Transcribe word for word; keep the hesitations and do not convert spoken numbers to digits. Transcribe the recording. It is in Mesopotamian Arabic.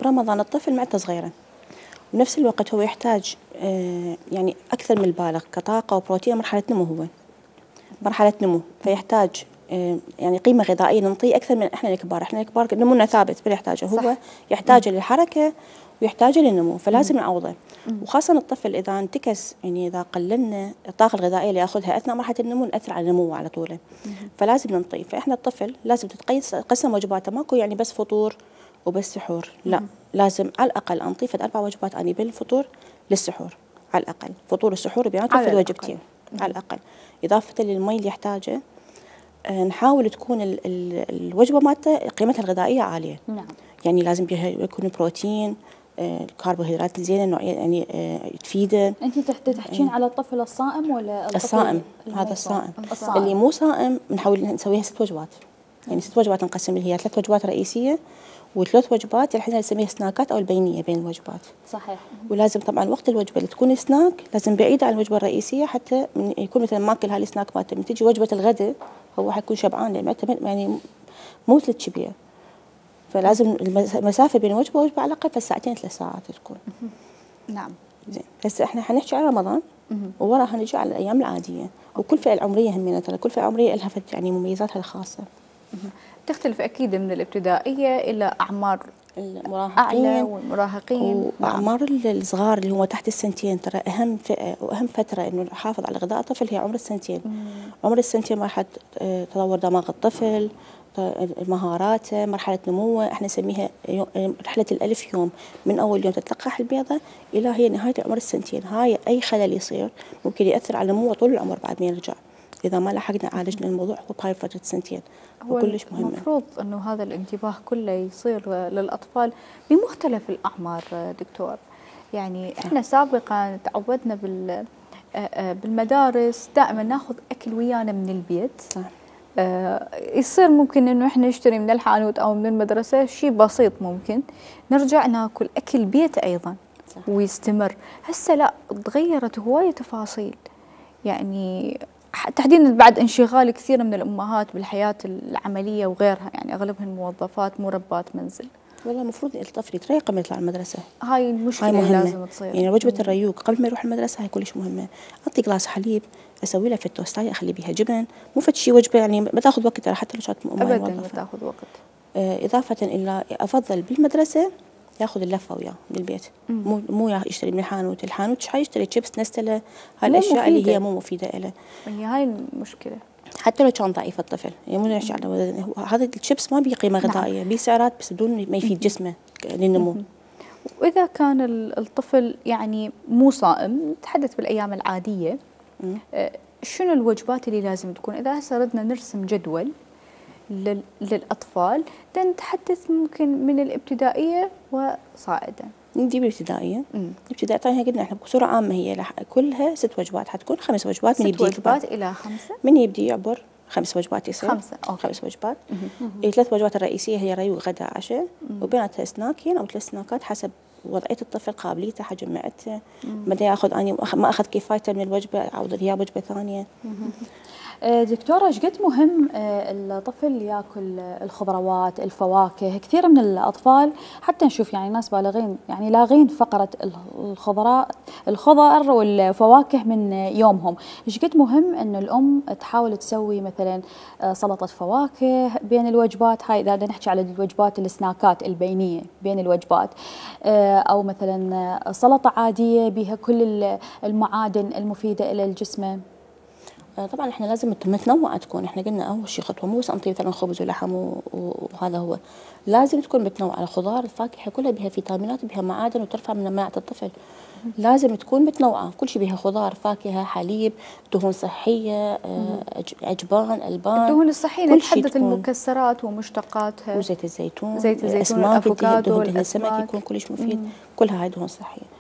برمضان الطفل معدته صغيره، بنفس الوقت هو يحتاج آه يعني اكثر من البالغ كطاقه وبروتين، مرحله نمو، هو مرحله نمو، فيحتاج آه يعني قيمه غذائيه نعطيه اكثر من احنا الكبار. احنا الكبار نمونا ثابت بنحتاجه، هو يحتاج للحركه ويحتاج للنمو، فلازم نعوضه. وخاصه الطفل اذا انتكس، يعني اذا قللنا الطاقه الغذائيه اللي ياخذها اثناء مرحله النمو ناثر على نموه على طوله، فلازم ننطيه. فاحنا الطفل لازم تتقسم وجباته، ماكو يعني بس فطور وبس سحور، لا، لازم على الاقل انطيه فد اربع وجبات اني بالفطور للسحور، على الاقل فطور السحور بيناتهم في الوجبتين على الاقل، اضافه للمي اللي يحتاجه. آه نحاول تكون ال ال الوجبه مالته قيمتها الغذائيه عاليه. نعم. يعني لازم بها يكون بروتين، آه الكربوهيدرات الزينه نوعيه يعني آه تفيده. انت تحكين آه على الطفل الصائم ولا الطفل الصائم؟ هذا الصائم. الصائم اللي مو صائم بنحاول نسويها ست وجبات، يعني ست وجبات نقسم اللي هي ثلاث وجبات رئيسيه وثلاث وجبات اللي احنا نسميها سناكات او البينيه بين الوجبات. صحيح. ولازم طبعا وقت الوجبه اللي تكون سناك لازم بعيده عن الوجبه الرئيسيه، حتى من يكون مثلا ماكل هاي السناك مالته، من تجي وجبه الغداء هو حيكون شبعان، لان يعني مو مثل الشبيه، فلازم المسافه بين وجبه ووجبه على الاقل ساعتين ثلاث ساعات تكون. نعم. زين، هسه احنا حنحكي على رمضان ووراها نجي على الايام العاديه، وكل فئه العمريه همينه، ترى كل فئه عمريه لها يعني مميزاتها الخاصه. تختلف اكيد من الابتدائيه الى اعمار المراهقين اعلى والمراهقين، واعمار الصغار اللي هم تحت السنتين. ترى اهم فئه واهم فتره انه نحافظ على غذاء الطفل هي عمر السنتين. مم. عمر السنتين مرحله تطور دماغ الطفل، مهاراته، مرحله نموه، احنا نسميها رحله الالف يوم، من اول يوم تتلقح البيضه الى هي نهايه عمر السنتين. هاي اي خلل يصير ممكن ياثر على نموه طول العمر بعد ما يرجع، اذا ما لحقنا عالجنا الموضوع هو بهاي فتره السنتين. وكلش مهم. المفروض انه هذا الانتباه كله يصير للاطفال بمختلف الاعمار دكتور. يعني احنا سابقا تعودنا بال بالمدارس دائما ناخذ اكل ويانا من البيت. صح. آه يصير ممكن انه احنا نشتري من الحانوت او من المدرسه شيء بسيط، ممكن نرجع ناكل اكل بيت ايضا. صح. ويستمر. هسه لا، تغيرت هوايه تفاصيل، يعني تحديدا بعد انشغال كثير من الامهات بالحياه العمليه وغيرها، يعني اغلبهن موظفات مو ربات منزل. والله المفروض الطفل يتريق قبل يطلع المدرسه. هاي المشكله اللي لازم تصير. يعني وجبه الريوق قبل ما يروح المدرسه هاي كلش مهمه. اعطي جلاس حليب، اسوي له في التوستايه، اخلي بيها جبن، مو فد شيء وجبه يعني ما تاخذ وقت، حتى لو كانت ابدا ما تاخذ وقت. آه اضافه الى افضل بالمدرسه ياخذ اللفه وياه من البيت، مو مو يشتري من الحانوت. الحانوت ايش حيشتري؟ شيبس، نستله، هاي الاشياء اللي هي مو مفيده له. هي هاي المشكله. حتى لو كان ضعيف الطفل، يعني مو نحكي على هذا الشيبس ما بيه قيمه غذائيه، بيه سعرات بس بدون ما يفيد جسمه للنمو. واذا كان الطفل يعني مو صائم، نتحدث بالايام العاديه، شنو الوجبات اللي لازم تكون؟ اذا هسه ردنا نرسم جدول للاطفال، نتحدث ممكن من الابتدائيه وصاعدا. نجيب الابتدائيه. الابتدائيه طبعا قلنا احنا بصوره عامه هي كلها ست وجبات، حتكون خمس وجبات من يبدي. ست وجبات الى خمسه. من يبدي يعبر خمس وجبات يصير خمسه. أوكي. خمس وجبات. الثلاث وجبات الرئيسيه هي ريوق، غداء، عشاء، وبيناتها سناكين او ثلاث سناكات حسب وضعيه الطفل، قابليته، حجم معدته، متى ياخذ اني ما اخذ كفايته من الوجبه اعوض اياه وجبه ثانيه. دكتورة، ايش قد مهم الطفل ياكل الخضروات، الفواكه؟ كثير من الاطفال حتى نشوف يعني ناس بالغين يعني لاغين فقره الخضراء الخضر والفواكه من يومهم. ايش قد مهم انه الام تحاول تسوي مثلا سلطه فواكه بين الوجبات هاي، اذا بدنا نحكي على الوجبات السناكات البينيه بين الوجبات، او مثلا سلطه عاديه بها كل المعادن المفيده الى الجسم. طبعا احنا لازم متنوعه تكون. احنا قلنا اول شيء خطوه مو بس انطي مثلا خبز ولحم وهذا هو، لازم تكون متنوعه. الخضار الفاكهه كلها بها فيتامينات، بها معادن، وترفع من مناعه الطفل. لازم تكون متنوعه، كل شيء بها خضار، فاكهه، حليب، دهون صحيه، عجبان، البان. الدهون الصحيه نتحدث المكسرات ومشتقاتها، وزيت الزيتون، زيت الزيتون، الافوكادو، دهن السمك يكون كلش مفيد. كلها هاي دهون صحيه.